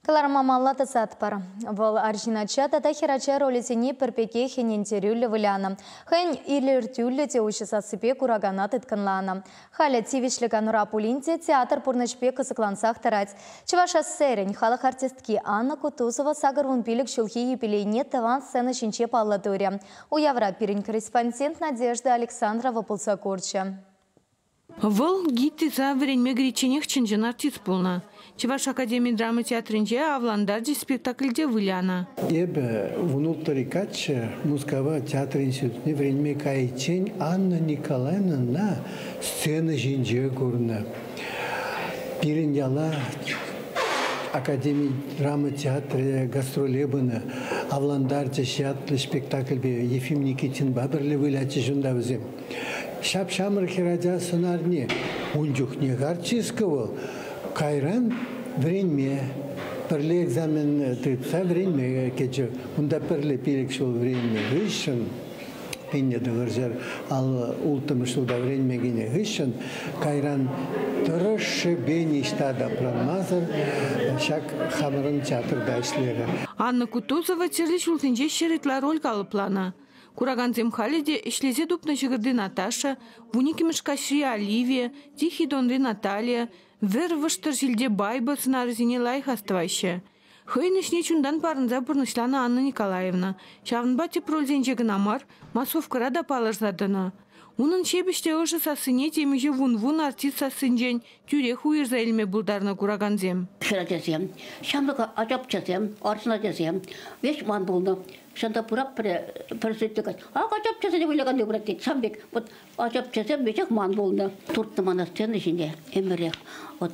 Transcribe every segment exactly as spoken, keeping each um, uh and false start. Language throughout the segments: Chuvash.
Кӑларӑма малалла тӑсатпӑр. Вӑл арҫын ача тата хӗрача ролӗсене пӗр пекех ӗнентерӳллӗ вылянӑ. Хӑйӗн илӗртӳллӗ те уҫӑ сассипе куракана тыткӑнланӑ. Халӗ тивӗҫлӗ канура пулин те театр пурнӑҫӗпе кӑсӑклансах тӑрать. Чӑваш АССРӗн халӑх артистки Анна Кутузова сакӑр вун пилӗк ҫулхи юбилейне тӑван сцена ҫинче паллӑ турӗ. Уявра пирӗн корреспондент Надежда Александрова пулса курчӗ. Вӑл ГИТИСа вӗренме кӗричченех чӑн-чӑн артист пулнӑ. Чӑваш академи драма театрӗнче «Авлантарчӗ» спектакльте вылянӑ. Эпӗ вун улттӑри каччӑ Мускава театр институтне вӗренме кайиччен Анна Николаевнӑна сцена ҫинче курнӑ. Пирӗн яла академи драма театрӗ гастроле пынӑ. «Авлантарчӗҫ» ятлӑ спектакльпе Ефим Никитинпа пӗрле вылятчӗҫ унта вӗсем. Ҫап-ҫамрӑк хӗрача сӑнарне ун чухнех артистка вӑл. Кайран вӗренме, пӗрле экзамен тытса вӗренме кӗчӗ. Унта пӗрле пилӗк ҫул вӗреннӗ хыҫҫӑн, пинне тӑхӑрҫӗр аллӑ улттӑмӗш ҫулта вӗренме кӗнӗ хыҫҫӑн, кайран тӑрӑшшӗпе ниҫта тапранмасӑр ҫак хамӑрӑн театрта ӗҫлерӗ. Анна Кутузова тӗрлӗ ҫулсенче ҫӗр ытла роль калӑпланӑ. Куракансем халӗ те ӗҫлесе тупнӑ ҫӑкӑрти Наташа, вун иккӗмӗш каҫри Оливия, Тихий донри Наталья, вӗр вӑштӑр ҫилте Байба сӑнарӗсене лайӑх астӑваҫҫӗ. Хӑйӗн ӗҫне чунтан парӑнса пурнӑҫланӑ Анна Николаевна. Ҫавӑнпа тӗп рольсенче кӑна мар, массовкӑра та палӑрса тӑнӑ. Унӑн ҫепӗҫ те ӑшӑ сассине темиҫе вун-вун артист сассинчен тӳрех уйӑрса илме пултарнӑ куракансем. Хӗрачасем, ҫамрӑк ачапчасем, арҫын ачасем веҫ ман пулнӑ. Ҫавӑнта пурак пӗр, пӗр сӗтте кать. Ак ачапчасене вылякан пурак тет. Ҫавӑн пек вот ачапчасем веҫех ман пулнӑ. Туртнӑ мана сцена ҫине ӗмӗрех. Вот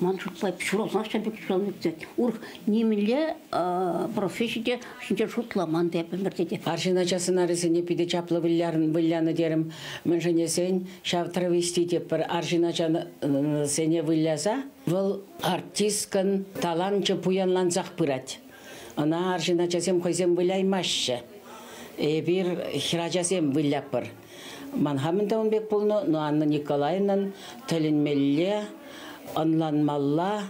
ман шутпа ҫуралсах ҫавӑн пек ҫуралнӑ тет. Урӑх нимӗнле професси те ҫинчен шутламан теп ӗмӗрте те. Арҫын ача сӑнарӗсене питӗ чаплӑ вылянӑ терӗм. Мӗншӗн ҫав травести те пӗр арҫын ачасене выляса, вӑл артисткӑн таланчӗ пуянлансах пырать. Ӑна арҫын ачасем хӑйсем выляймаҫҫӗ. Эпир хӗрачасем выляппӑр. Ман хамӑн та ун пек пулнӑ, но Анна Николаевнан тӗлӗнмелле, ӑнланмалла,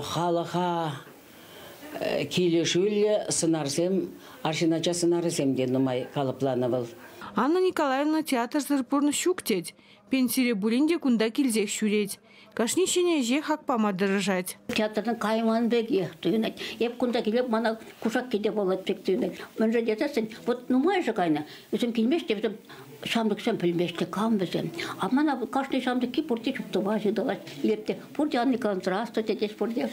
халӑха килӗшӳллӗ сӑнарсем, арҫын ача сӑнарӗсем те нумай калӑпланӑ вӑл. Анна Николаевна театрсӑр пурнӑҫ ҫук тет. Пенсире пулин те кунта килсех ҫӳрет. Кашни ҫӗнӗ ӗҫе хак пама тӑрӑшать. Театртан кайман пекех туйӑнать. Эп кунта килеп мана кушак килте пулать пек туйӑнать. Мӗншӗн тесессӗн, вот нумайӑшӗ кайнӑ. Вӗсем килмеҫҫӗ, вӗсем ҫамрӑксем пӗлмеҫҫӗ, кам вӗсем. А мана кашни ҫамрӑкки пурте чуптӑва ҫытӑлать. Илеп те пурте Анна Николаевна здравствуйте тетеҫ пурте.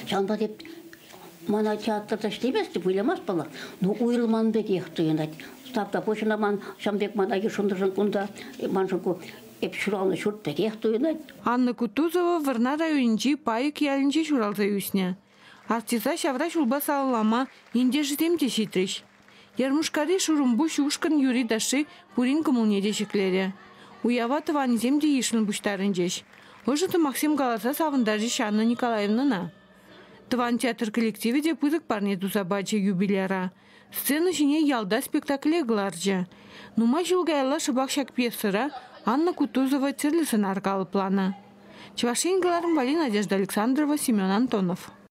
Ҫавӑнпа теп мана театрта ӗҫлемест, выламасть паллах. Ну уйрӑлман пекех туйӑнать. Ставта пуҫӑна ман ҫавӑн пек мана йышӑннӑшӑн кунта маншӑн ку эп ҫуралнӑ ҫурт пекех туйӑнать. Анна Кутузова Вӑрнар районӗнчи Пайӑк ялӗнче ҫуралса ӳснӗ. Артиста ҫавра ҫулпа саламлама ентешӗсем те ҫитрӗҫ. Ярмушкари Шурӑмпуҫ ушкӑн юрри ташши пурин кӑмӑлне те ҫӗклерӗ. Уява тӑванӗсем те йышлӑн пуҫтарӑнчӗҫ. Ӑшӑ сӑмахсем каласа савӑнтарчӗҫ Анна Николаевнӑна. Тӑван театр коллективӗ те пысӑк парне туса пачӗ юбиляра. Сцена ҫине ялта спектакле кӑларчӗ. Нумай ҫул каялла шӑпах ҫак пьесӑра Анна Кутузова тӗрлӗ сӑнар калӑпланӑ. Чӑваш Ен кӑларӑм валли Надежда Александрова, Семен Антонов.